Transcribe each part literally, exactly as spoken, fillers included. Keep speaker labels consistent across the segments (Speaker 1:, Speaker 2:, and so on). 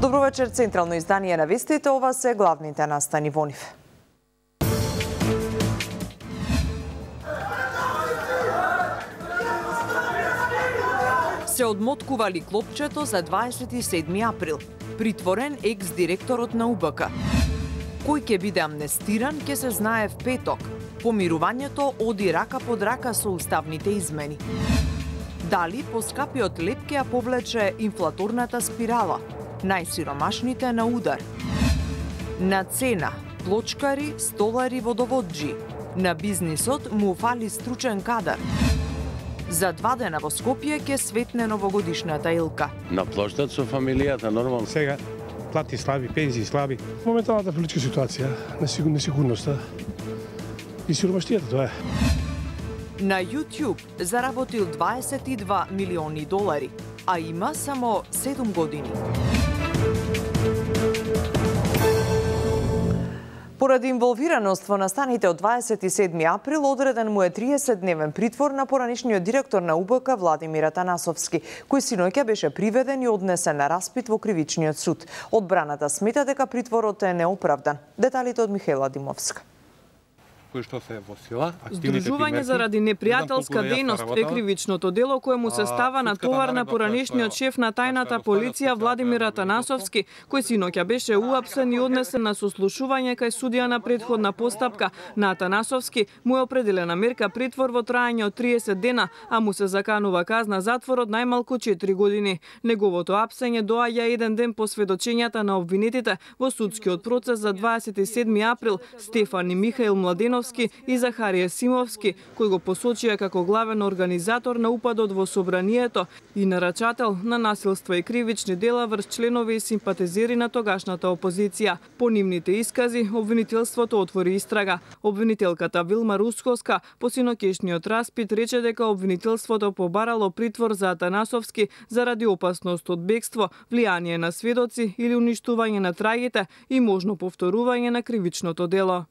Speaker 1: Добро вечер, централно издание на вестите, ова се главните настани во нив. Се одмоткували клопчето за дваесет и седми април. Притворен екс-директорот на У Б К. Кој ќе биде амнестиран, ќе се знае в петок. Помирувањето оди рака под рака со уставните измени. Дали поскапиот леп ќе ја повлече инфлаторната спирала? Најсиромашните на удар. На цена, плочкари, столари, водоводжи. На бизнисот му фали стручен кадар. За два дена во Скопје ќе светне новогодишната илка.
Speaker 2: На плоштад со фамилијата, нормално.
Speaker 3: Сега плати слаби, пензии слаби. Моменталната политичка ситуација, несигурноста и сиромаштијата, тоа е.
Speaker 1: На YouTube заработил дваесет и два милиони долари, а има само седум години. Поради инволвираност во настаните од дваесет и седми април, одреден му е триесетдневен притвор на поранишниот директор на У Б К Владимир Атанасовски, кој синоќа беше приведен и однесен на распит во кривичниот суд. Одбраната смета дека притворот е неоправдан. Деталите од Михаела Димовска.
Speaker 4: Кој што се во сила,
Speaker 5: Здружување заради непријателска дејност е кривичното дело кое му се става на товар на поранишниот шеф на тајната полиција Владимир Атанасовски, кој синоќа беше уапсен и однесен на сослушување кај судија на претходна постапка. На Атанасовски му е определена мерка притвор во траење од триесет дена, а му се заканува казна затвор од најмалку четири години. Неговото апсење доаѓа еден ден по сведочењата на обвинетите во судскиот процес за дваесет и седми април Стефан и Михаил Младеновски и Захарија Симовски, кој го посочија како главен организатор на упадот во собранието и нарачател на насилства и кривични дела врз членови и симпатизери на тогашната опозиција. По нивните искази, обвинителството отвори истрага. Обвинителката Вилма Русковска по синоќешниот распит рече дека обвинителството побарало притвор за Атанасовски заради опасност од бегство, влијание на сведоци или уништување на трагите и можно повторување на кривичното дело.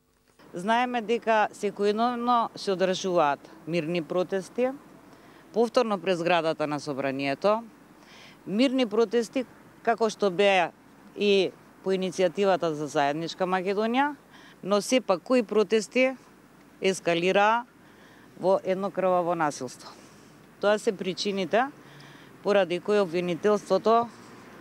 Speaker 6: Знаеме дека секојдневно се одржуваат мирни протести, повторно пред зградата на собранието, мирни протести како што беа и по иницијативата за заедничка Македонија, но сепак кои протести ескалираа во едно крваво насилство. Тоа се причините поради кои обвинителството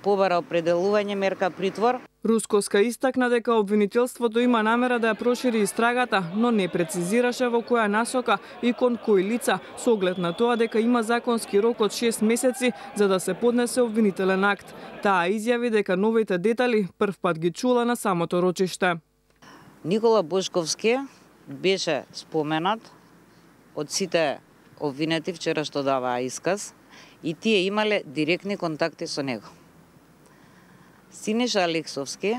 Speaker 6: побара определување мерка притвор.
Speaker 5: Русковска истакна дека обвинителството има намера да ја прошири истрагата, но не прецизираше во која насока и кон кои лица, со оглед на тоа дека има законски рок од шест месеци за да се поднесе обвинителен акт. Таа изјави дека новите детали првпат ги чула на самото рочиште.
Speaker 6: Никола Бошковски беше споменат од сите обвинети вчера што даваа исказ и тие имале директни контакти со него. Синеша Алексовски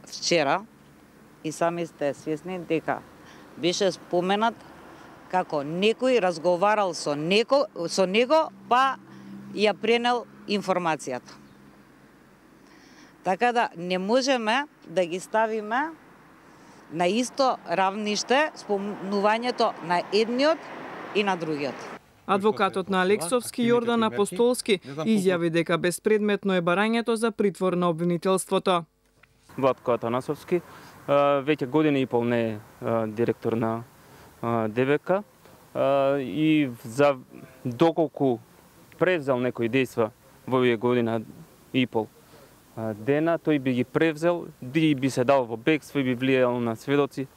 Speaker 6: вчера, и сами сте свесни дека беше споменат како некој разговарал со него, со него па ја пренел информацијата. Така да не можеме да ги ставиме на исто равниште спомнувањето на едниот и на другиот.
Speaker 5: Адвокатот на Алексовски Јордан Апостолски изјави дека безпредметно е барањето за притвор на обвинителството.
Speaker 7: Владко Атанасовски веќе година и пол не е директор на Д В К и за доколку превзел некои дејства во овие година и пол дена, тој би ги превзел, и би се дал во бегство и би влијал на сведоци.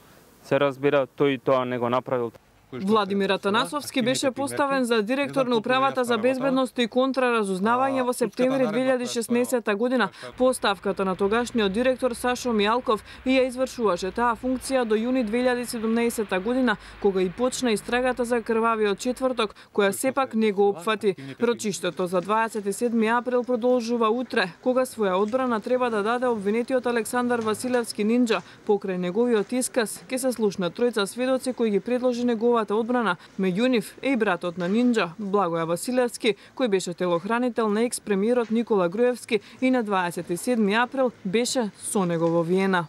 Speaker 7: Се разбира, тој тоа не го направил.
Speaker 5: Владимир Атанасовски беше поставен за директор на Управата за безбедност и контраразузнавање во септември две илјади и шеснаесетта година по оставката на тогашниот директор Сашо Мијалков и ја извршуваше таа функција до јуни две илјади и седумнаесетта година, кога и почна истрагата за крвавиот четврток, која сепак не го опфати. Рочиштето за дваесет и седми април продолжува утре, кога своја одбрана треба да даде обвинетиот Александар Василевски Нинџа. Покрај неговиот исказ ќе се слушнат тројца сведоци кои ги предложи неговата одбрана. Меѓу нив е и братот на Нинџа, Благоја Василевски, кој беше телохранител на екс-премиерот Никола Груевски и на дваесет и седми април беше со него во Виена.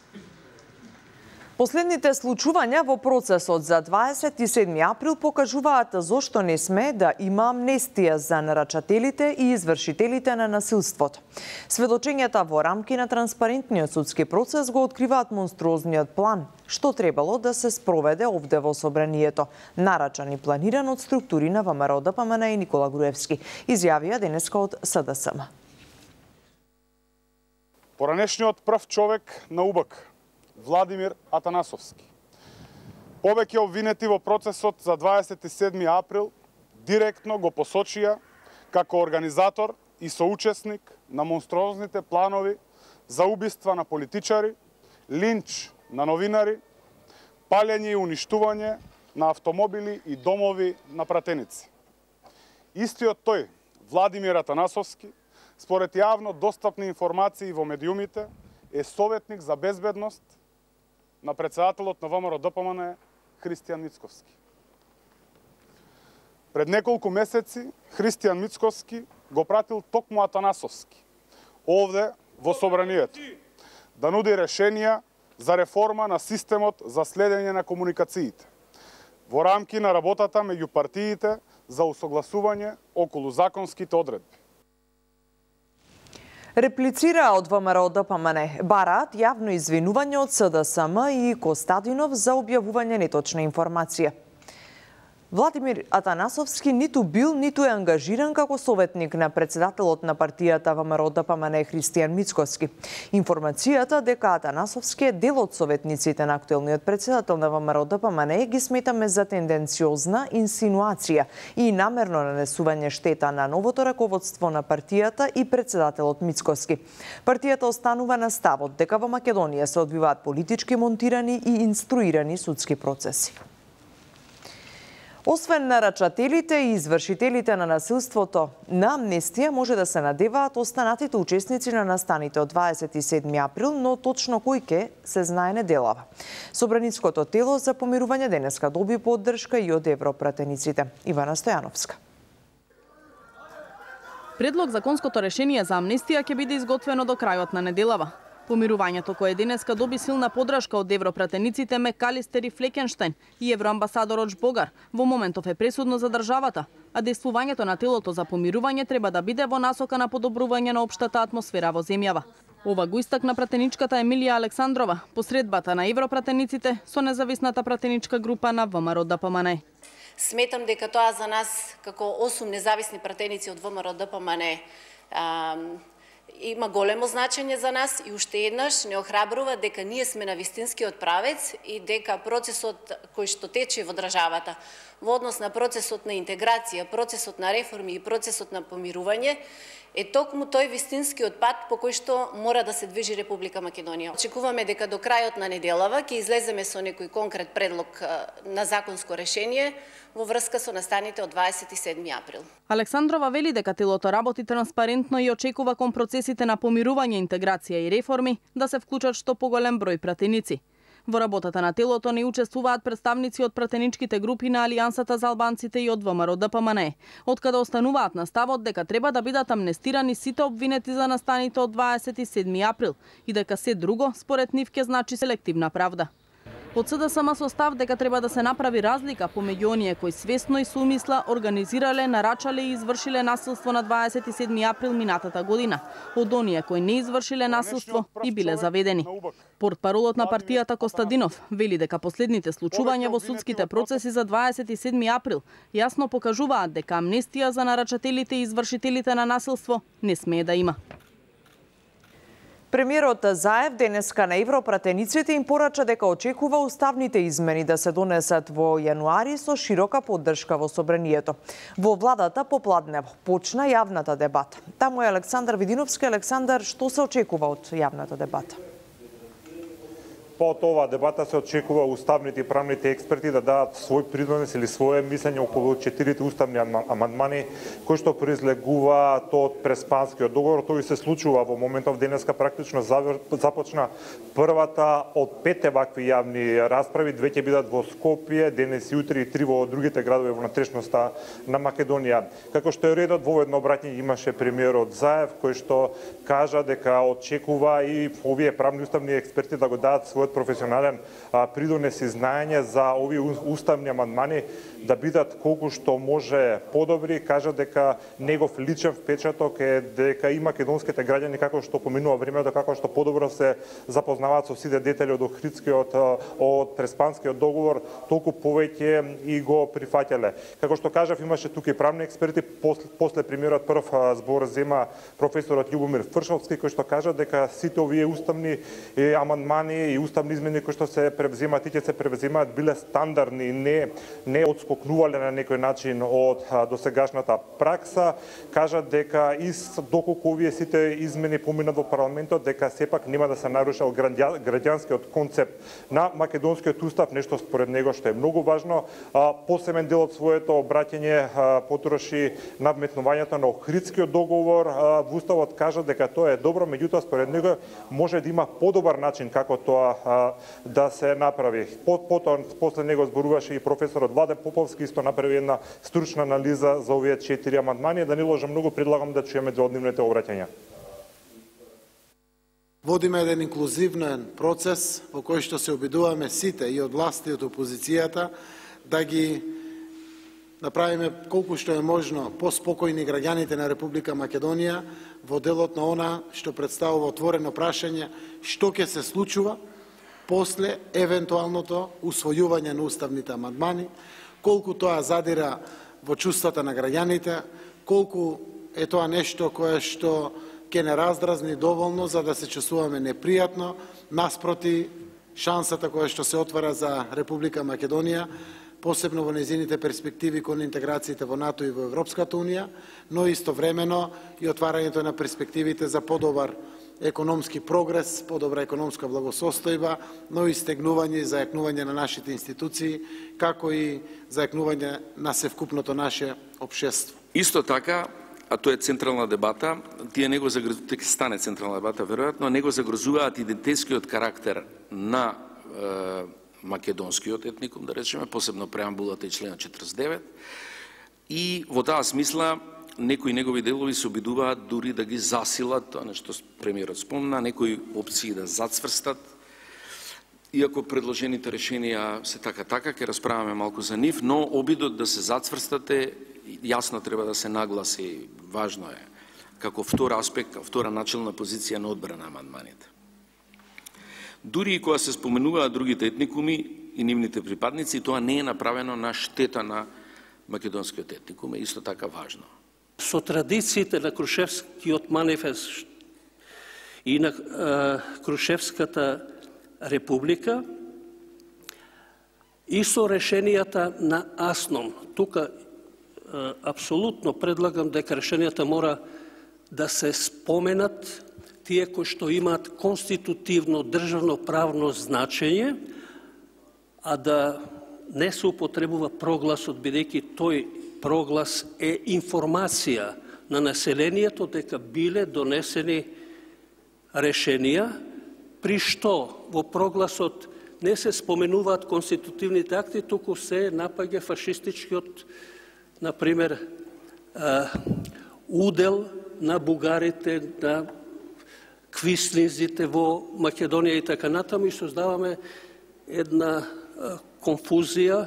Speaker 1: Последните случувања во процесот за дваесет и седми април покажуваат зошто не сме да има амнестија за нарачателите и извршителите на насилството. Сведочењата во рамки на транспарентниот судски процес го откриваат монструозниот план што требало да се спроведе овде во собранието, нарачан и планиран од структури на ВМРО Д П М Н и Никола Груевски, изјавија денеска од С Д С М.
Speaker 8: Поранешниот прв човек на У Б К, Владимир Атанасовски, повеќе обвинети во процесот за дваесет и седми април, директно го посочија како организатор и соучесник на монструозните планови за убиства на политичари, линч на новинари, палење и уништување на автомобили и домови на пратеници. Истиот тој, Владимир Атанасовски, според јавно достапни информации во медиумите, е советник за безбедност на председателот на ВМРО Д П М Н Христијан Мицковски. Пред неколку месеци Христијан Мицковски го пратил токму Атанасовски овде во собранието да нуди решенија за реформа на системот за следење на комуникациите во рамки на работата меѓу партиите за усогласување околу законските одредби.
Speaker 1: Реплицираа од ВМРО Д П М Н, бараат јавно извинување од С Д С М и Костадинов за објавување неточна информација. Владимир Атанасовски ниту бил, ниту е ангажиран како советник на председателот на партијата ВМРО Д П М Н Христијан Мицковски. Информацијата дека Атанасовски е дел од советниците на актуелниот председател на ВМРО Д П М Н ги сметаме за тенденциозна инсинуација и намерно нанесување штета на новото раководство на партијата и председателот Мицковски. Партијата останува на ставот дека во Македонија се одвиваат политички монтирани и инструирани судски процеси. Освен нарачателите и извршителите на насилството, на амнестија може да се надеваат останатите учесници на настаните од дваесет и седми април, но точно кој ке се знае неделава. Собраницкото тело за помирување денеска доби поддршка и од европратениците. Ивана Стојановска.
Speaker 9: Предлог законското решение за амнестија ќе биде изготвено до крајот на неделава. Помирувањето кое денеска доби силна поддршка од европратениците Мекалистер и Флекенштајн и евроамбасадорот Богар во моментов е пресудно за државата, а действувањето на телото за помирување треба да биде во насока на подобрување на општата атмосфера во земјава. Ова го истакна пратеничката Емилија Александрова, посредбата на европратениците со независната пратеничка група на ВМРО Д П М Н.
Speaker 10: Сметам дека тоа за нас, како осум независни пратеници од ВМРО Д П М Н, има големо значење за нас и уште еднаш не охрабрува дека ние сме на вистинскиот правец и дека процесот кој што тече во државата во однос на процесот на интеграција, процесот на реформи и процесот на помирување е токму тој вистинскиот пат по кој што мора да се движи Република Македонија. Очекуваме дека до крајот на неделава ќе излеземе со некој конкрет предлог на законско решение во врска со настаните од дваесет и седми април.
Speaker 9: Александрова вели дека телото работи транспарентно и очекува кон процесите на помирување, интеграција и реформи да се вклучат што поголем број пратеници. Во работата на телото не учествуваат представници од пратеничките групи на Алијансата за албанците и од ВМРО Д П М Н, откаде остануваат на ставот дека треба да бидат амнестирани сите обвинети за настаните од дваесет и седми април и дека се друго според нив ќе значи селективна правда. Од С Д С М со став дека треба да се направи разлика помеѓу оние кои свесно и со умисла организирале, нарачале и извршиле насилство на дваесет и седми април минатата година, од оние кои не извршиле насилство и биле заведени. Портпаролот на партијата Костадинов вели дека последните случувања во судските процеси за дваесет и седми април јасно покажуваат дека амнестија за нарачателите и извршителите на насилство не смее да има.
Speaker 1: Премиерот Заев денеска на европратениците им порача дека очекува уставните измени да се донесат во јануари со широка поддршка во собранието. Во владата попладнево почна јавната дебата. Таму е Александар Видиновски. Александар, што се очекува од јавната дебата?
Speaker 11: По оваа дебата се очекува уставните и правните експерти да дадат свој придонес или свое мислење околу четирите уставни амандмани кои што произлегува тоа од Преспанскиот договор. Тој се случува во моментов. Денеска практично започна првата од петте вакви јавни расправи. Две ќе бидат во Скопје, денес и утре, и три во другите градови во внатрешноста на Македонија. Како што е редот, во едно обраќање имаше премиерот Заев кој што кажа дека очекува и овие правни уставни експерти да го дадат својот својот професионален придонес и знаење за овие уставни амандмани да бидат колку што може подобри. Кажа дека негов личен впечаток е дека и македонските граѓани, како што поминува времето, како што подобро се запознаваат со сите детали од Охридскиот, од Преспанскиот договор, толку повеќе и го прифаќале. Како што кажав, имаше тука и правни експерти, после, после премиерот прв збор зема професорот Љубомир Фршовски, кој што кажа дека сите овие уставни амандмани и уставни измени кои што се превземаат и ќе се превземаат биле стандардни, не не одскокнувале на некој начин од досегашната пракса. Кажа дека и доколку овие сите измени поминат во парламентот, дека сепак нема да се нарушил граѓанскиот концепт на македонскиот устав, нешто според него што е многу важно. Посебен дел од своето обраќање потроши надметнувањето на Охридскиот договор. Во уставот кажа дека тоа е добро, меѓутоа според него може да има подобар начин како тоа да се направи. Потоа после него зборуваше и професорот Владе Поповски, исто направи една стручна анализа за овие четири амандмани. Да не ложам многу, предлагам да чуеме дводневните обраќања.
Speaker 12: Водиме еден инклузивен процес во кој што се обидуваме сите и од власта и од опозицијата да ги направиме колку што е можно поспокојни граѓаните на Република Македонија во делот на она што представува отворено прашање што ќе се случува после евентуалното усвојување на уставните амандмани, колку тоа задира во чувствата на граѓаните, колку е тоа нешто кое што ќе не раздразни доволно за да се чувствуваме непријатно, наспроти шансата која што се отвара за Република Македонија, посебно во незините перспективи кон интеграциите во НАТО и во Европската Унија, но истовремено и отварањето на перспективите за подобар економски прогрес, подобра економска благосостојба, но и стегнување и зајакнување на нашите институции, како и зајакнување на севкупното наше општество.
Speaker 13: Исто така, а тоа е централна дебата, тие него загрозуваат, дека стане централна дебата веројатно, него загрозуваат идентитетскиот карактер на е, македонскиот етникум, да речеме, посебно преамбулата и членот четиридесет и девет, и во таа смисла некои негови делови се обидуваат дури да ги засилат, тоа нешто премиерот спомна, некои опции да зацврстат, иако предложените решенија се така-така, ќе расправаме малку за нив, но обидот да се зацврстат е, јасно треба да се нагласи, важно е, како втор аспект, втора начелна позиција на одбрана амандманите. Дури и кога се споменуваат другите етникуми и нивните припадници, тоа не е направено на штета на македонскиот етникум, е исто така важно.
Speaker 14: Со традициите на Крушевскиот манифест и на е, Крушевската република и со решенијата на АСНОМ. Тука е, апсолутно предлагам дека решенијата мора да се споменат тие кои што имаат конститутивно државно правно значење, а да не се употребува прогласот, бидејќи тој проглас е информација на населението дека биле донесени решенија, при што во прогласот не се споменуваат конститутивните акти, туку се напаѓа фашистичкиот, например, удел на бугарите, на квислинзите во Македонија и така натаму, и создаваме една конфузија.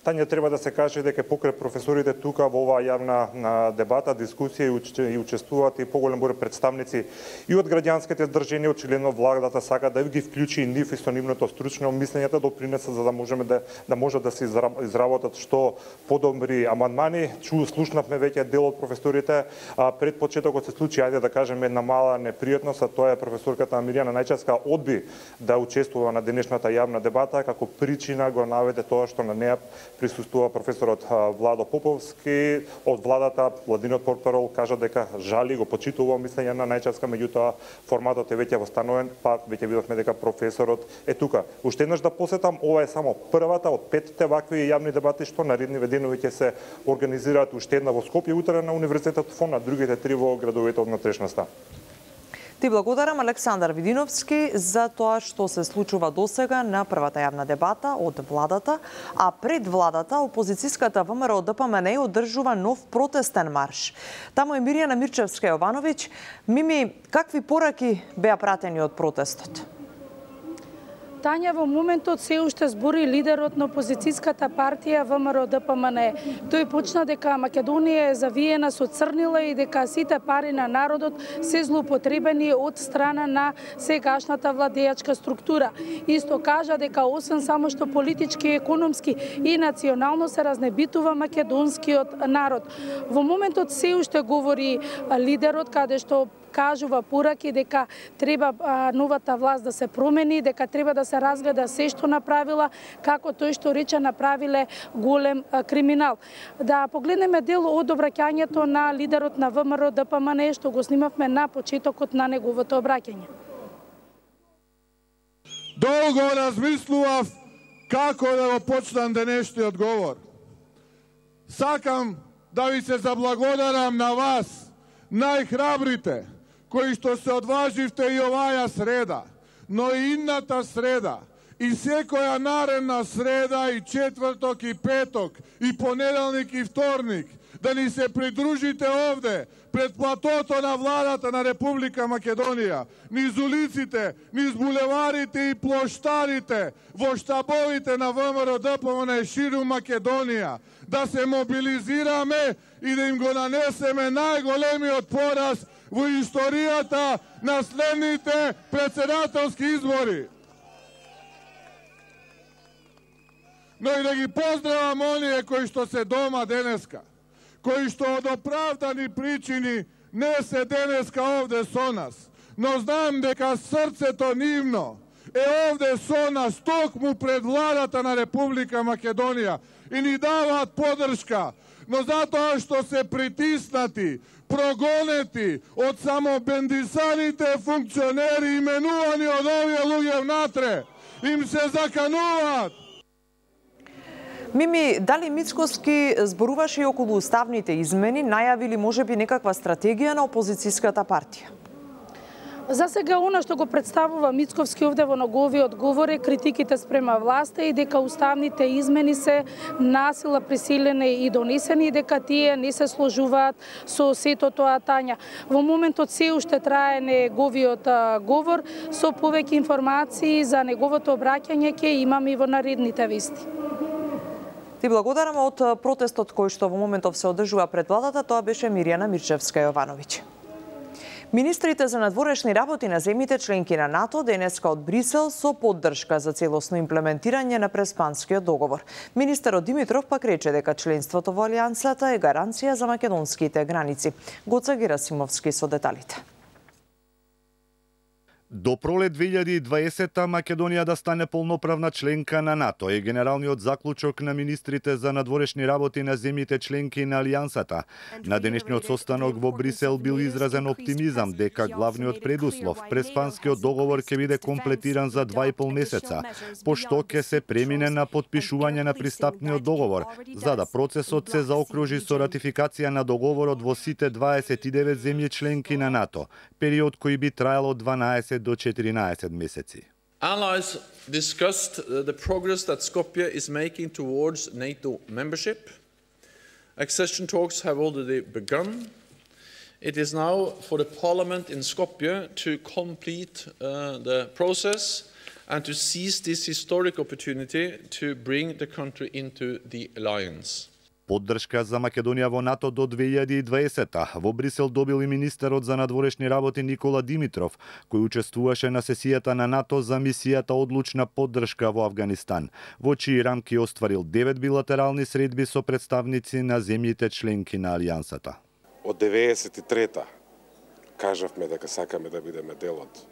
Speaker 11: Тања, треба да се каже дека покрај професорите тука во оваа јавна дебата, дискусија и учествуваат и поголем број представници и од граѓанските здрженија, очигледно владата сака да ги вклучи и нив и со нивното стручно мислење да допринесат за да можеме да да можат да се изработат што подобри амандмани. Чу слушнавме веќе дел од професорите, а пред почетокот се случи, ајде да кажеме, една мала непријатност, а тоа е професорката Миријана Најчевска одби да учествува на денешната јавна дебата, како причина го наведе тоа што на неа присуствува професорот Владо Поповски од владата. Владиниот портparol кажа дека жали, го почитува мислење на Најчевска, меѓутоа форматот е веќе восстановен, па веќе видовме дека професорот е тука. Уште еднаш да посетам, ова е само првата од петте вакви јавни дебати што наредни денови ќе се организираат, уште една во Скопје утре на Универзитетот ФОН, а другите три во градовите од натрешноста.
Speaker 1: Ти благодарам, Александар Видиновски, за тоа што се случува досега на првата јавна дебата од владата, а пред владата опозицијската ВМРО Д П М Н одржува нов протестен марш. Таму е Мирјана Мирчевска-Јовановиќ. Мими, какви пораки беа пратени од протестот?
Speaker 15: Тања, во моментот се уште збори лидерот на опозицијската партија ВМРО-ДПМНЕ. Тој почна дека Македонија е завиена со црнила и дека сите пари на народот се злоупотребени од страна на сегашната владеачка структура. Исто кажа дека освен само што политички, економски и национално се разнебитува македонскиот народ. Во моментот се уште говори лидерот каде што кажува пораки дека треба а, новата власт да се промени, дека треба да се разгледа се што направила, како тој што рече направиле голем а, криминал. Да погледнеме дел од обраќањето на лидерот на ВМРО-ДПМНЕ што го снимавме на почетокот на неговото обраќање.
Speaker 16: Долго размислував како да го почнам денешниот говор. Сакам да ви се заблагодарам на вас, најхрабрите, кои што се одваживте и оваја среда, но и инната среда, и секоја наредна среда, и четврток, и петок, и понеделник, и вторник, да ни се придружите овде, пред платото на владата на Република Македонија, низ улиците, низ булеварите и плоштарите, во штабовите на ВМРО-ДПМНЕ ширум Македонија, да се мобилизираме и да им го нанесеме најголемиот пораз во историјата на следните председателски избори. Но и да ги поздравам оние кои што се дома денеска, кои што од оправдани причини не се денеска овде со нас, но знам дека срцето нивно е овде со нас токму пред владата на Република Македонија и ни даваат подршка, но затоа што се притиснати, прогонети од само бендисаните функционери именувани од овие луѓе внатре, им се закануваат.
Speaker 1: Мими, дали Мицковски зборуваше и околу уставните измени, најави ли можеби некаква стратегија на опозицијската партија?
Speaker 15: За сега, она што го представува Мицковски овде во неговиот говор е критиките спрема власта и дека уставните измени се насила присилени и донесени и дека тие не се сложуваат со сето тоа Тања. Во моментот се уште трае неговиот говор, со повеќе информации за неговото обраќање ќе имаме и во наредните вести.
Speaker 1: Ти благодарам. Од протестот кој што во моментов се одржува пред владата, тоа беше Мирјана Мирчевска-Јовановиќ. Министрите за надворешни работи на земјите членки на НАТО денеска од Брисел со поддршка за целосно имплементирање на Преспанскиот договор. Министерот Димитров пак рече дека членството во Алијансата е гаранција за македонските граници. Гоца Герасимовски со деталите.
Speaker 17: До пролет две илјади и дваесета Македонија да стане полноправна членка на НАТО е генералниот заклучок на министрите за надворешни работи на земјите членки на Алијансата. На денешниот состанок во Брисел бил изразен оптимизам дека главниот предуслов, Преспанскиот договор, ќе биде комплетиран за два и пол месеца, пошто ќе се премине на потпишување на пристапниот договор, за да процесот се заокружи со ратификација на договорот во сите дваесет и девет земји членки на НАТО, период кој би траел од дванаесет до четиринаесет месеци.
Speaker 18: Allies discussed the progress that Skopje is making towards NATO membership. Accession talks have already begun. It is now for the parliament in Skopje to complete uh, the process and to seize this historic opportunity to bring the country into the alliance.
Speaker 17: Поддршка за Македонија во НАТО до две илјади и дваесета во Брисел добил и министерот за надворешни работи Никола Димитров, кој учествуваше на сесијата на НАТО за мисијата одлучна поддршка во Авганистан, во чии рамки остварил девет билатерални средби со представници на земјите членки на Алијансата.
Speaker 19: Од деветдесет и трета кажавме дека сакаме да бидеме дел од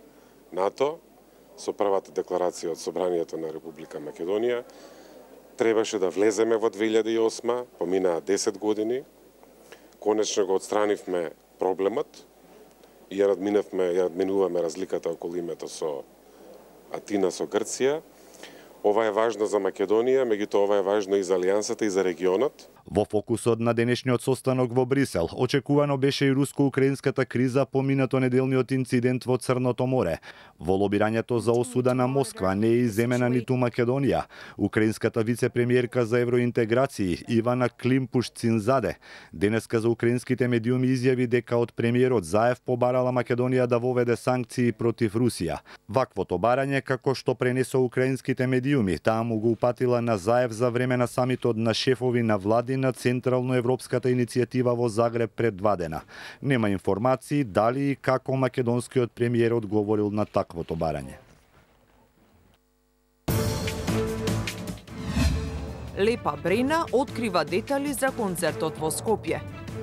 Speaker 19: НАТО, со првата декларација од Собранието на Република Македонија. Требаше да влеземе во две илјади и осма, поминаа десет години. Конечно го отстранивме проблемот и ја надминавме, ја надминуваме разликата околу името со Атина со Грција. Ова е важно за Македонија, меѓутоа ова е важно и за Алијансата и за регионот.
Speaker 17: Во фокусот на денешниот состанок во Брисел, очекувано беше и руско-украинската криза по минатонеделниот инцидент во Црното море. Во лобирањето за осуда на Москва не е иземена ниту Македонија. Украинската вице-премиерка за евроинтеграции Ивана Климпуш-Цинзаде денеска за украинските медиуми изјави дека од премиерот Заев побарала Македонија да воведе санкции против Русија. Ваквото барање, како што пренесо украинските медиуми, таа му го упатила на Заев за време на самитот на шефови на влади на Централно-европската иницијатива во Загреб пред два дена. Нема информации дали и како македонскиот премиер одговорил на таквото барање.
Speaker 1: Лепа Брена открива детали за концертот во Скопје.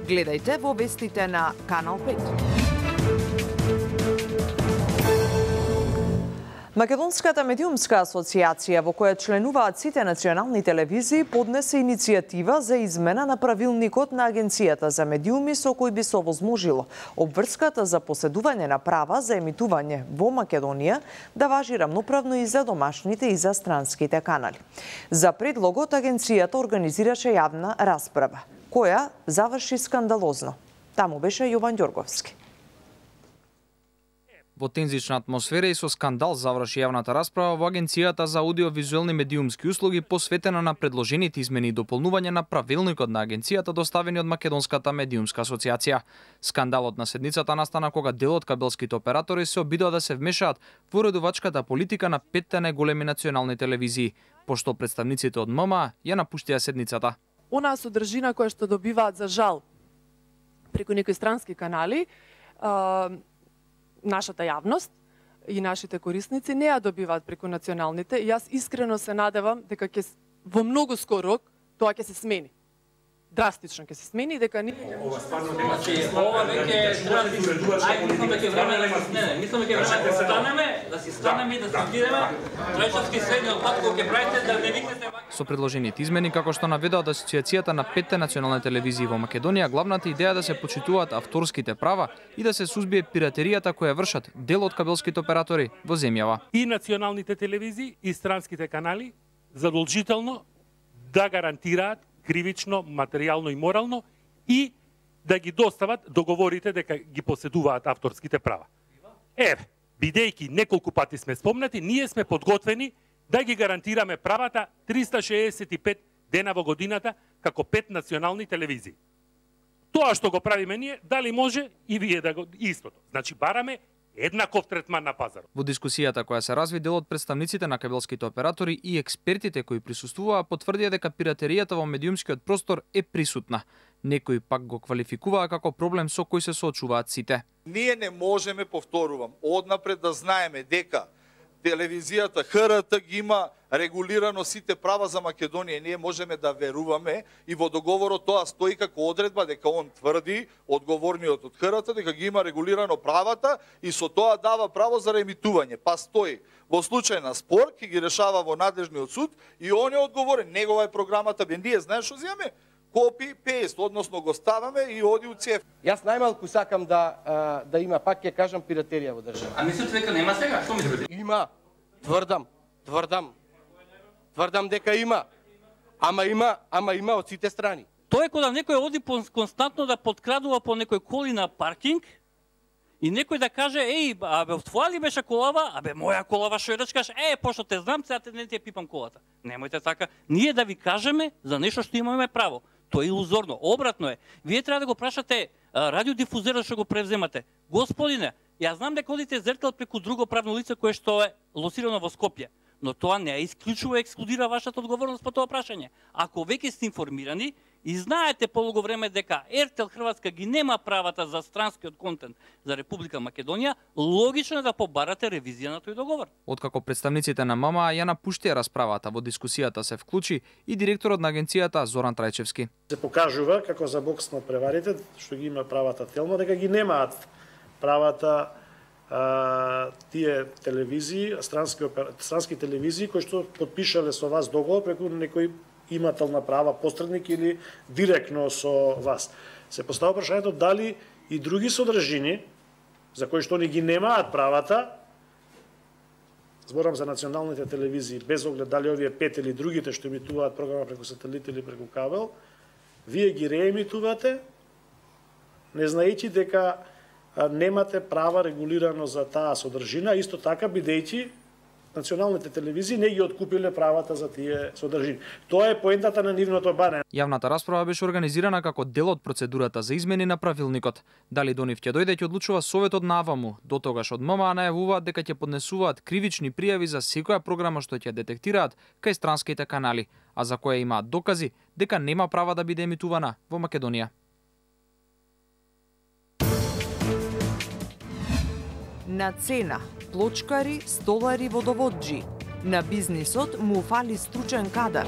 Speaker 1: Гледајте во вестите на Канал пет. Македонската медиумска асоциација, во која членуваат сите национални телевизии, поднесе иницијатива за измена на правилникот на Агенцијата за медиуми, со кој би се овозможило обврската за поседување на права за емитување во Македонија да важи рамноправно и за домашните и за странските канали. За предлогот Агенцијата организираше јавна расправа, која заврши скандалозно. Таму беше Јован Ѓорговски.
Speaker 20: Во тензична атмосфера и со скандал заврши јавната расправа во Агенцијата за аудиовизуелни медиумски услуги, посветена на предложените измени и дополнување на правилникот на Агенцијата, доставени од Македонската медиумска асоциација. Скандалот на седницата настана кога дел од кабелските оператори се обидува да се вмешаат во уредувачката политика на петте најголеми национални телевизии, пошто представниците од ММА ја напуштија седницата.
Speaker 21: Онаа содржина која што добиваат за жал преку некои странски канали, а, нашата јавност и нашите корисници не ја добиваат преку националните. И јас искрено се надевам дека ќе во многу скоро рок тоа ќе се смени. Драстично ќе се смени, дека ние
Speaker 22: ова стварно нема че ова веќе ај мислам дека време да се смени. Мислам дека време да се станеме, да си станеме и да се идеме. Тројчовски средниот пат кој ќе правите да не викнете.
Speaker 20: Со предложените измени, како што наведоа од Асоциацијата на петте национални телевизии во Македонија, главната идеја е да се почитуваат авторските права и да се сузбие пиратеријата која вршат дел од кабелските оператори во земјава.
Speaker 23: И националните телевизии и странските канали задолжително да гарантираат кривично, материјално и морално и да ги достават договорите дека ги поседуваат авторските права. Еве, бидејќи неколку пати сме спомнати, ние сме подготвени да ги гарантираме правата триста шеесет и пет дена во годината како пет национални телевизии. Тоа што го правиме ние, дали може и вие да го истото. Значи бараме еднаков третман на пазарот.
Speaker 20: Во дискусијата која се разви, дел од представниците на кабелските оператори и експертите кои присуствуваа потврдија дека пиратеријата во медиумскиот простор е присутна. Некои пак го квалификуваа како проблем со кој се соочуваат сите.
Speaker 24: Ние не можеме, повторувам, однапред да знаеме дека телевизијата Х Р Т ги има регулирано сите права за Македонија. Ние можеме да веруваме и во договорот тоа стои како одредба дека он тврди, одговорниот од Х Р Т, дека ги има регулирано правата и со тоа дава право за реемитување. Па стои во случај на спор ќе ги решава во надлежниот суд и он е одговорен. Негова е програмата, бе ние знаеш што земе? Копи пест, односно го ставаме и оди у цев.
Speaker 25: Јас најмалку сакам да а, да има, пак ќе кажам, пиратерија во држава.
Speaker 22: А мислите дека нема сега? Што мислите?
Speaker 25: Има. Тврдам, тврдам. Тврдам дека има. Ама има, ама има од сите страни.
Speaker 22: Тоа е кога некој оди константно да подкрадува по некој коли на паркинг и некој да каже: "Еј, абе, твоја ли беше колава? Абе, моја колава што ја речкаш? Е, пошто те знам, сега те не ти ја пипам колата." Немојте така. Ние да ви кажеме за нешто што имаме право. Тоа е илузорно. Обратно е. Вие треба да го прашате радиодифузерот што го превземате. Господине, ја знам дека одите зртел преку друго правно лице кое што е лосирано во Скопје, но тоа не исклучува ексклудира вашата одговорност по тоа прашање. Ако веќе сте информирани и знаете полого време дека Ертел Хрватска ги нема правата за странскиот контент за Република Македонија, логично е да побарате ревизија на тој договор.
Speaker 20: Откако представниците на ММА ја напуштија расправата, во дискусијата се вклучи и директорот на агенцијата Зоран Трајчевски.
Speaker 26: Се покажува како за бокс на преварите што ги има правата телно, дека ги немаат правата а, тие телевизии, странски, странски телевизии кои што подпишале со вас договор преку некој имател на права, посредник или директно со вас. Се поставува прашањето дали и други содржини за кои што они ги немаат правата, зборам за националните телевизии, без оглед дали овие пет или другите што емитуваат програма преку сателит или преку кабел, Вие ги реемитувате, не знаејќи дека немате права регулирано за таа содржина, исто така бидејќи националните телевизии не ги откупиле правата за тие содржини. Тоа е поентата на нивното барање.
Speaker 20: Јавната расправа беше организирана како дел од процедурата за измени на правилникот. Дали до нив ќе дојде ќе одлучува Советот на АВАМУ. До тогаш од ММА најавуваат дека ќе поднесуваат кривични пријави за секоја програма што ќе детектираат кај странските канали, а за која имаат докази дека нема права да биде емитувана во Македонија.
Speaker 1: На цена, плочкари, столари, водоводжи. На бизнисот му фали стручен кадар.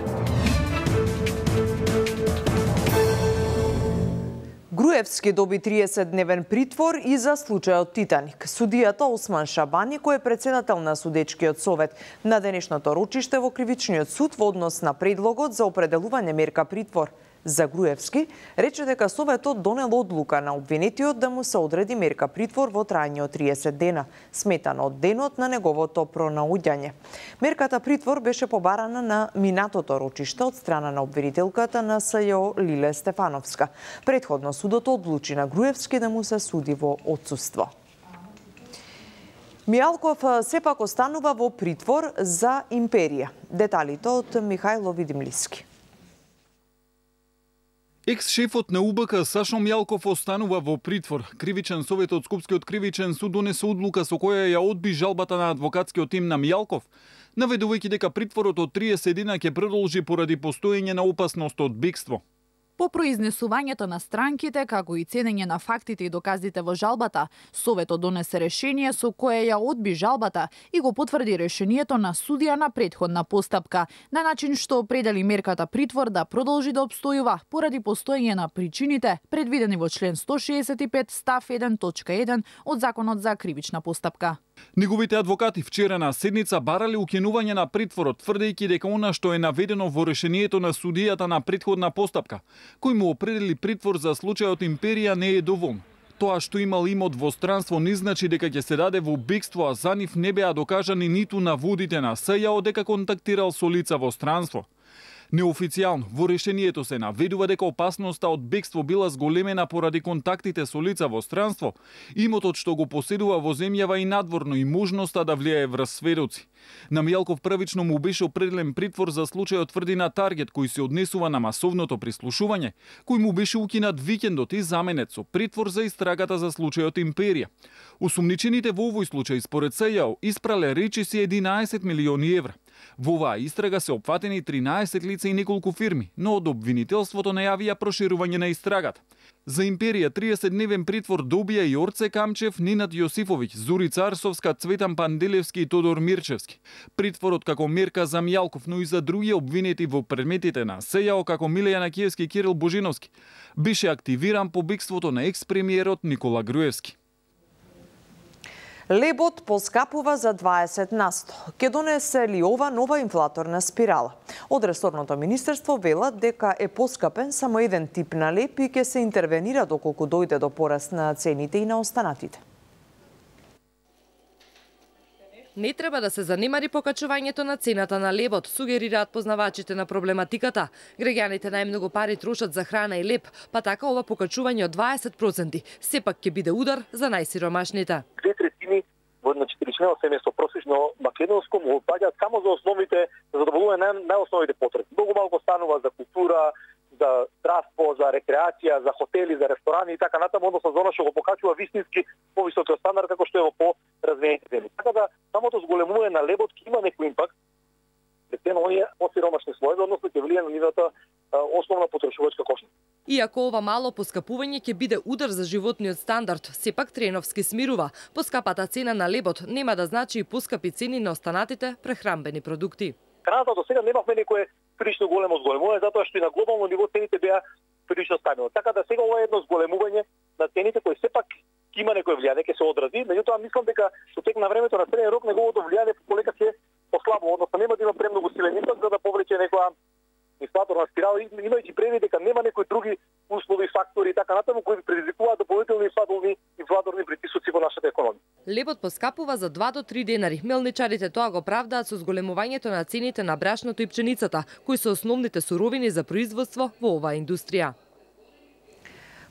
Speaker 1: Груевски доби триесетдневен притвор и за случајот Титаник. Судијата Осман Шабани, кој е председател на судечкиот совет на денешното рочиште во кривичниот суд во однос на предлогот за определување мерка притвор за Груевски, рече дека Советот донел одлука на обвинетиот да му се одреди мерка притвор во трајање од триесет дена, сметано од денот на неговото пронаоѓање. Мерката притвор беше побарана на минатото рочиште од страна на обвинителката на СЈО Лиле Стефановска. Претходно судот одлучи на Груевски да му се суди во отсуство. Мијалков сепак останува во притвор за империја. Деталите од Михајло Видимлиски.
Speaker 2: Екс-шефот на УБК Сашо Мијалков останува во притвор. Кривичен совет од Скопскиот кривичен суд донесе одлука со која ја одби жалбата на адвокатскиот тим на Мијалков, наведувајќи дека притворот од триесет дена ќе продолжи поради постоење на опасност од бегство.
Speaker 3: По произнесувањето на странките, како и ценење на фактите и доказите во жалбата, Советот донесе решение со кое ја одби жалбата и го потврди решението на судија на претходна постапка, на начин што определи мерката притвор да продолжи да обстојува поради постоење на причините предвидени во член сто шеесет и пет став еден точка еден од Законот за кривична постапка.
Speaker 2: Неговите адвокати вчера на седница барале укинување на притворот, тврдејќи дека она што е наведено во решението на судијата на претходна постапка, кој му определи притвор за случајот Империја, не е доволно. Тоа што имал имот во странство не значи дека ќе се даде во бегство, а за нив не беа докажани ниту наводите на СЈО дека контактирал со лица во странство. Неофицијално во решението се наведува дека опасноста од бегство била зголемена поради контактите со лица во странство, имотот што го поседува во земјава и надворно и можноста да влијае врз сведоци. На Мијалков првично му беше определен притвор за случајот тврдина Таргет, кој се однесува на масовното прислушување, кој му беше укинат викендот и заменет со притвор за истрагата за случајот Империја. Осумничените во овој случај според СЈО испрале речиси единаесет милиони евра. Во оваа истрага се опфатени тринаесет лица и неколку фирми, но од обвинителството најавија проширување на истрагата. За Империја триесетдневен притвор добија и Орце Камчев, Нинат Јосифовиќ, Зури Царсовска, Цветан Панделевски и Тодор Мирчевски. Притворот како мерка за Мијалков, но и за други обвинети во предметите на СЈО како Милеја Накиевски и Кирил Божиновски, беше активиран по бегството на екс-премиерот Никола Груевски.
Speaker 1: Лебот поскапува за дваесет на сто. Ке донесе ли ова нова инфлаторна спирала? Од ресорното министерство велат дека е поскапен само еден тип на леб и ќе се интервенира доколку дојде до пораст на цените и на останатите.
Speaker 4: Не треба да се занимари покачувањето на цената на лебот, сугерираат познавачите на проблематиката. Граѓаните најмногу пари трошат за храна и леб, па така ова покачување од дваесет проценти сепак ќе биде удар за најсиромашните.
Speaker 5: Две третини во едно четиричлено семејство просечно македонско му опаѓаат само за основните, за задоволување на најосновните потреби. Многу малку станува за култура, за здравство, за рекреација, за хотели, за ресторани и така натаму, односно за она што го покачува вистински повисокиот стандард како што е во по-развиените земји. Така да самото зголемување на лебот ќе има некој импакт пред оние посиромашни слоеви, односно ќе влијае на нивната основна потрошувачка кошница.
Speaker 4: Иако ова мало поскапување ќе биде удар за животниот стандард, сепак Треновски смирува. Поскапата цена на лебот нема да значи и поскапи цени на останатите прехранбени продукти.
Speaker 5: Храната до сега немавме некое прилично големо зголемување, затоа што и на глобално ниво цените беа прилично стабилни. Така да сега ова е едно зголемување на цените кои сепак ќе има некој влијание, ќе се одрази, меѓутоа мислам дека со тек на времето на среден рок неговото влијание полека ќе послабо, односно нема да има премногу силен импакт за да повлече некоја инфлаторна спирала, имајќи предвид дека нема некои други услови, фактори и така натаму кои предизвикуваат дополнителни инфлаторни инфлаторни притисоци во нашата економија.
Speaker 4: Лебот поскапува за два до три денари. Мелничарите тоа го правдаат со зголемувањето на цените на брашното и пченицата, кои се основните суровини за производство во оваа индустрија.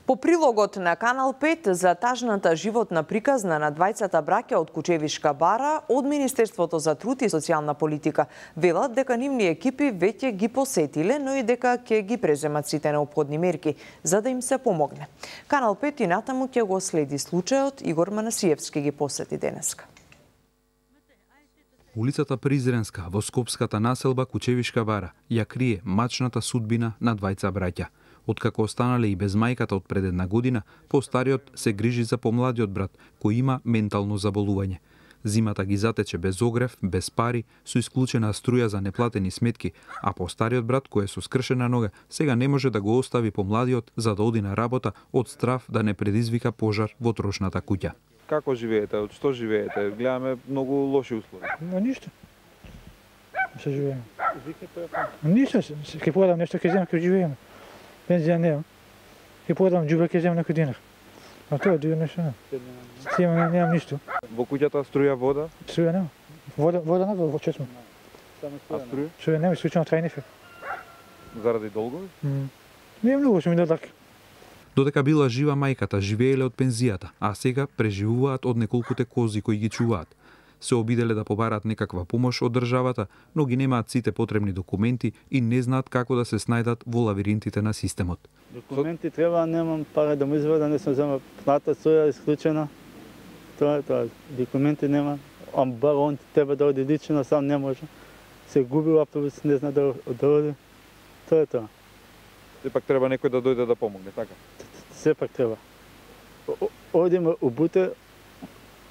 Speaker 1: По прилогот на Канал пет за тажната животна приказна на двајцата браќа од Кучевишка бара, од Министерството за труд и социјална политика велат дека нивни екипи веќе ги посетиле, но и дека ќе ги преземат сите неопходни мерки за да им се помогне. Канал пет и натаму ќе го следи случајот. Игор Манасиевски ги посети денеска.
Speaker 6: Улицата Призренска во скопската населба Кучевишка бара ја крие мачната судбина на двајца браќа. Откако останале и без мајката од пред една година, постариот се грижи за помладиот брат, кој има ментално заболување. Зимата ги затече без огрев, без пари, со исклучена струја за неплатени сметки, а постариот брат, кој е со скршена нога, сега не може да го остави помладиот за да оди на работа од страв да не предизвика пожар во трошната куќа.
Speaker 7: Како живеете? Од што живеете? Гледаме многу лоши услови.
Speaker 8: Но ништо. Се живееме. Ништо, ќе подам нешто ќе земам, ќе живееме. Пензија нема. Ќе подам џубе ќе земам некој динар. А тоа дури нешто нема. Сима немам ништо.
Speaker 7: Во куќата струја, вода?
Speaker 8: Струја нема. Вода, вода нема во чесмо.
Speaker 7: А струја?
Speaker 8: Струја нема, исклучено трајни ефект.
Speaker 7: Заради долгови?
Speaker 8: Не е многу, што ми дадак.
Speaker 6: Додека била жива мајката, живееле од пензијата, а сега преживуваат од неколкуте кози кои ги чуваат. Се обиделе да побарат некаква помош од државата, но ги немаат сите потребни документи и не знаат како да се снајдат во лавиринтите на системот.
Speaker 8: Документи треба, немам пара да му извадам, не сум зема плата, соја исклучена. Тоа е тоа. Документи нема. Ам бар он треба да оди лично, сам не може. Се губи автобус, не зна да оди. Тоа е тоа.
Speaker 7: Сепак треба некој да дојде да помогне, така?
Speaker 8: Сепак треба. Одиме у Буте,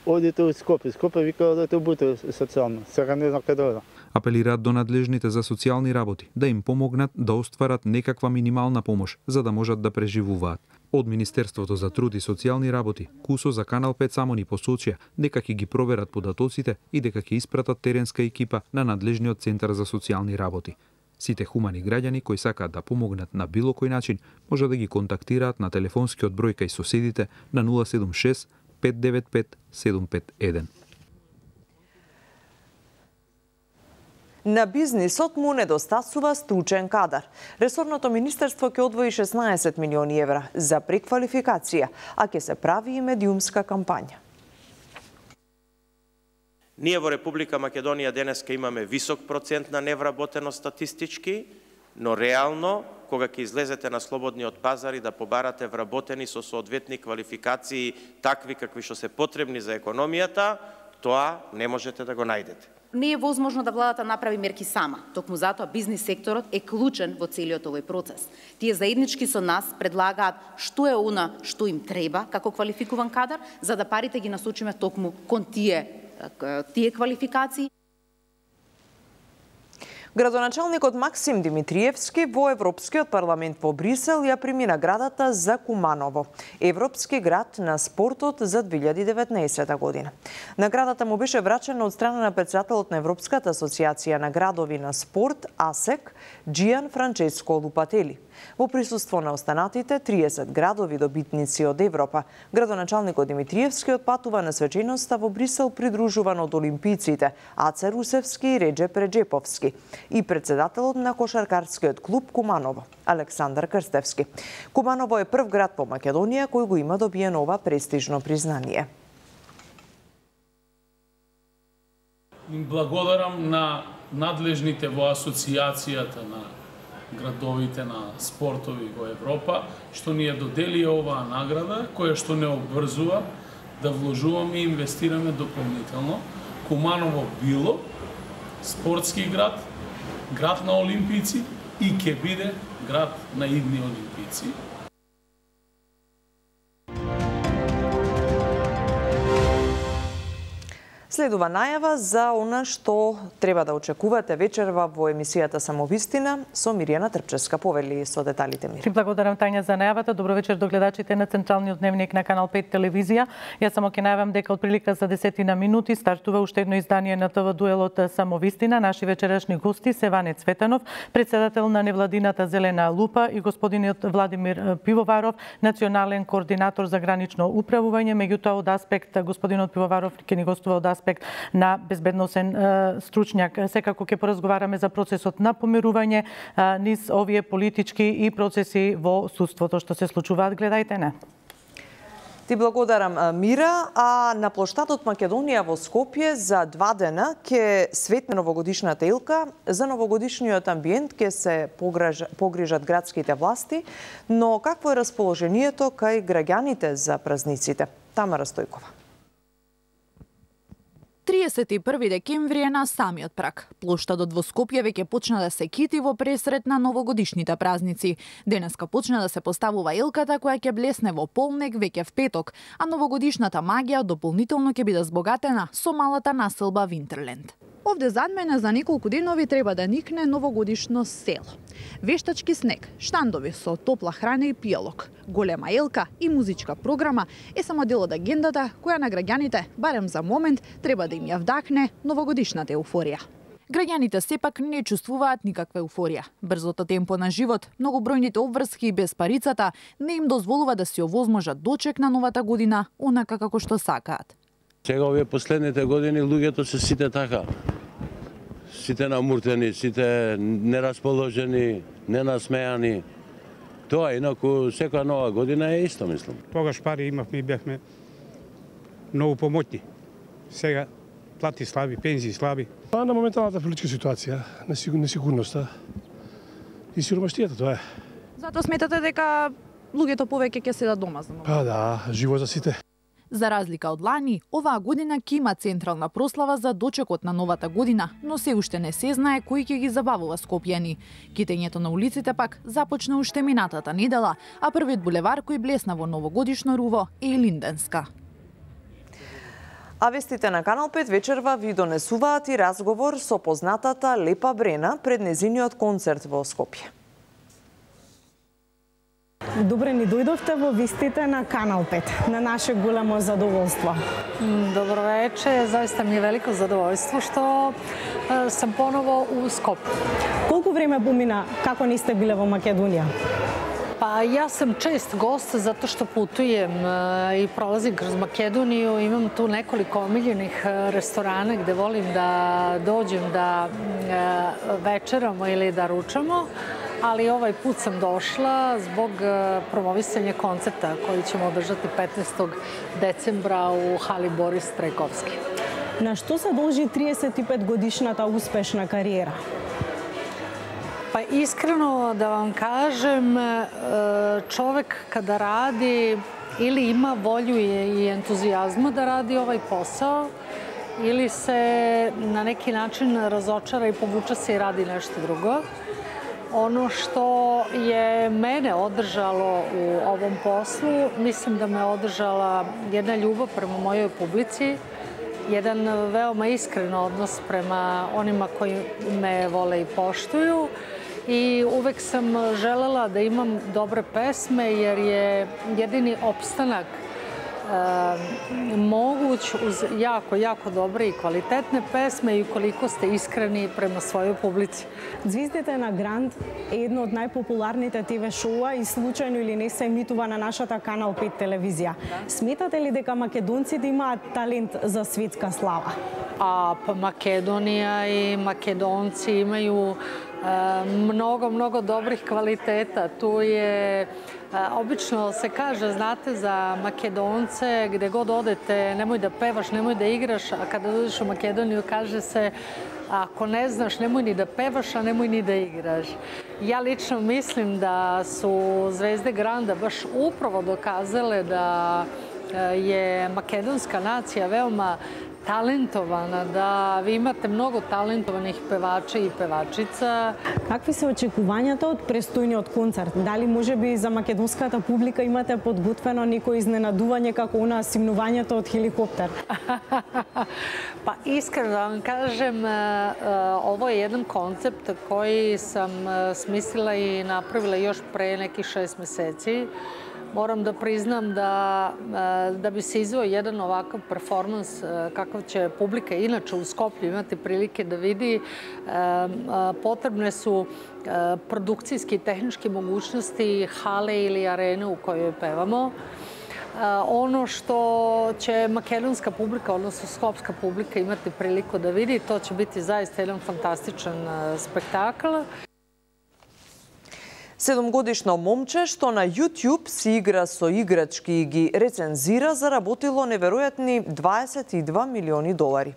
Speaker 8: одите у Скопје. Скопје вика одите у Буте социјално. Сега не знам каде одам.
Speaker 6: Апелираат до надлежните за социјални работи да им помогнат да остварат некаква минимална помош за да можат да преживуваат. Од Министерството за труд и социјални работи, Кусо за Канал пет само ни посочија дека ќе ги проверат податоците и дека ќе испратат теренска екипа на надлежниот центар за социјални работи. Сите хумани граѓани кои сакаат да помогнат на било кој начин може да ги контактираат на телефонскиот број кај соседите на нула седум шест пет девет пет седум пет еден.
Speaker 1: На бизнисот му недостасува стручен кадар. Ресорното министерство ќе одвои шеснаесет милиони евра за преквалификација, а ќе се прави и медиумска кампања.
Speaker 9: Ние во Република Македонија денеска имаме висок процент на невработеност статистички, но реално, кога ќе излезете на слободниот пазар и да побарате вработени со соодветни квалификации, такви какви што се потребни за економијата, тоа не можете да го најдете.
Speaker 10: Не е возможно да владата направи мерки сама, токму затоа бизнис секторот е клучен во целиот овој процес. Тие заеднички со нас предлагаат што е она што им треба како квалификуван кадар, за да парите ги насочиме токму кон тие тие квалификации.
Speaker 1: Градоначалникот Максим Димитриевски во Европскиот парламент во Брисел ја прими наградата за Куманово, Европски град на спортот за две илјади и деветнаесета година. Наградата му беше врачена од страна на претседателот на Европската асоциација на градови на спорт АСЕК Џијан Франческо Лупатели. Во присуство на останатите триесет градови добитници од Европа, градоначалникот Димитриевски отпатува на свеченоста во Брисел придружуван од олимпиците Аце Русевски и Реджеп Реджеповски и председателот на кошаркарскиот клуб Куманово, Александар Крстевски. Куманово е прв град во Македонија кој го има добиено ова престижно признание.
Speaker 12: Им благодарам на надлежните во асоциацијата на градовите на спортови во Европа, што ни ја додели оваа награда, која што не обврзува да вложуваме и инвестираме дополнително. Куманово било спортски град, град на олимпици и ќе биде град на идни олимпици.
Speaker 1: Следува најава за она што треба да очекувате вечерва во емисијата Самовистина со Миријана Трпчевска. Повели со деталите, Мири.
Speaker 27: Ти благодарам, Тања, за најавата. Добро вечер до гледачите на Централниот дневник на Канал пет телевизија. Јас само ќе најавам дека од прилика за десетина минути стартува уште едно издание на ТВ дуелот Самовистина. Наши вечерашни гости се Ване Цветанов, председател на невладината Зелена Лупа, и господинот Владимир Пивоваров, национален координатор за гранично управување. Меѓутоа, од аспект господинот Пивоваров ќе ни гостува од аспект аспект на безбедносен стручњак. Секако ќе поразговараме за процесот на помирување низ овие политички и процеси во судството што се случуваат. Гледајте не.
Speaker 1: Ти благодарам, Мира. А на плоштадот Македонија во Скопје за два дена ќе светне новогодишната илка. За новогодишниот амбиент ќе се погрижат градските власти, но какво е расположението кај граѓаните за празниците? Тамара Стојкова.
Speaker 3: триесет и први декември е на самиот праг. Плоштадот во Скопје веќе почна да се кити во пресрет на новогодишните празници. Денеска почна да се поставува илката која ќе блесне во полнек веќе в петок, а новогодишната магија дополнително ќе биде збогатена со малата населба Винтерленд. Овде зад мене за неколку денови треба да никне новогодишно село. Вештачки снег, штандови со топла храна и пијалок, голема елка и музичка програма е само дел од агендата која на граѓаните, барем за момент, треба да им ја вдахне новогодишната еуфорија. Граѓаните сепак не чувствуваат никаква еуфорија. Брзото темпо на живот, многобројните обврски без парицата не им дозволува да си овозможат дочек на новата година онака како што сакаат.
Speaker 11: Сега овие последните години луѓето се сите така. Сите намуртени, сите нерасположени, ненасмејани. Тоа инаку секоја нова година е исто, мислам.
Speaker 13: Тогаш пари имавме и бевме многу помотни. Сега плати слаби, пензии слаби.
Speaker 14: Па на моменталната политичка ситуација, несигурноста и сиромаштијата, тоа е.
Speaker 3: Затоа сметате дека луѓето повеќе ќе седат дома за нова?
Speaker 14: Па да, живо за сите.
Speaker 3: За разлика од лани, оваа година ќе има централна прослава за дочекот на новата година, но се уште не се знае кој ќе ги забавува скопјани. Китењето на улиците пак започна уште минатата недела, а првиот булевар кој блесна во новогодишно руво е Линденска.
Speaker 1: А вестите на Канал пет вечерва ви донесуваат и разговор со познатата Лепа Брена пред незиниот концерт во Скопје.
Speaker 15: Добре ни дојдовте во вестите на Канал пет, на наше големо задоволство.
Speaker 16: Добро вече, заista ми е велико задоволство што е, сам поново у Скопје.
Speaker 15: Колку време помина како не сте биле во Македонија?
Speaker 16: Па јас сам чест гост затоа што путуjem е, и пролазим кроз Македонiju, имам ту неколико омилjenih ресторана где волим да доđem da e, večeramo ili da ručamo. Ali ovaj put sam došla zbog promovisanja koncerta koji ćemo održati petnaestog decembra u hali Boris Trajkovski.
Speaker 15: Na што се должи триесет и пет годишната успешна кариера?
Speaker 16: Pa iskreno da vam kažem, čovek kada radi ili ima volju i entuzijazma da radi ovaj posao, ili se na neki način razočara i povuče se i radi nešto drugo. Ono što je mene održalo u ovom poslu, mislim da me održala jedna ljubav prema mojoj publici, jedan veoma iskren odnos prema onima koji me vole i poštuju i uvek sam želela da imam dobre pesme jer je jedini opstanak e, moguć uz jako, jako dobre i kvalitetne pesme i ukoliko ste iskreni prema svojoj publici.
Speaker 15: Звездите на Гранд е едно од најпопуларните те ве шоуа и случајно или не се емитува на нашата Канал пет телевизија. Да. Сметате ли дека македонците имаат талент за светска слава?
Speaker 16: A pa Makedonija i Makedonci imaju e, mnogo, mnogo dobrih kvaliteta. Tu je, e, obično se kaže, znate, za Makedonce, gde god odete, nemoj da pevaš, nemoj da igraš, a kada dođeš u Makedoniju kaže se ako ne znaš, nemoj ni da pevaš, a nemoj ni da igraš. Ja lično mislim da su zvezde Granda baš upravo dokazale da je makedonska nacija veoma talentovana, da vi imate mnogo talentovanih pevača i pevačica.
Speaker 15: Какви се очекувањата од престојниот концерт? Дали можеби за македонската публика имате подготвено некој изненадување како она симнувањето од хеликоптер?
Speaker 16: Pa iskreno da vam kažem, ovo je jedan koncept koji sam smislila i napravila još pre nekih šest meseci. Moram da priznam da, da bi se izveo jedan ovakav performans kakav će publika inače u Skoplju imati prilike da vidi, potrebne su produkcijski i tehničke mogućnosti hale ili arene u kojoj pevamo. Ono što će makedonska publika, odnosno skopska publika imati priliku da vidi, to će biti zaista jedan fantastičan spektakl.
Speaker 1: Седомгодишно момче што на YouTube си игра со играчки и ги рецензира заработило неверојатни дваесет и два милиони долари.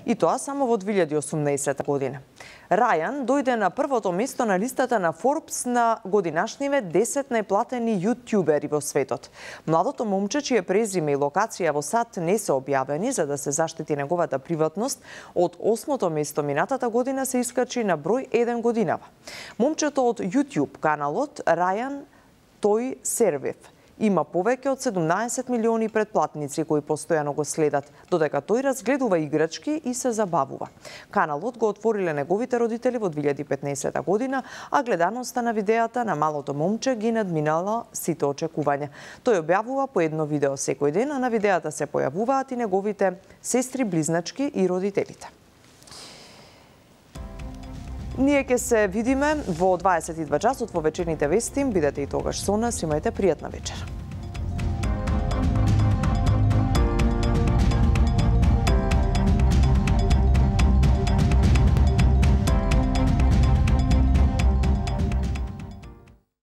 Speaker 1: И тоа само во две илјади и осумнаесета година. Рајан дојде на првото место на листата на Forbes на годинашниве десет најплатени јутјубери во светот. Младото момче, чие презиме и локација во САД не се објавени за да се заштити неговата приватност, од осмото место минатата година се искачи на број еден годинава. Момчето од YouTube каналот Рајан Тој Сервив има повеќе од седумнаесет милиони претплатници кои постојано го следат, додека тој разгледува играчки и се забавува. Каналот го отвориле неговите родители во две илјади и петнаесета година, а гледаноста на видеата на малото момче ги надминала сите очекувања. Тој објавува по едно видео секој ден, а на видеата се појавуваат и неговите сестри, близначки и родителите. Ние ќе се видиме во дваесет и два часот во вечерните вести. Бидете и тогаш со нас, имајте пријатна вечер.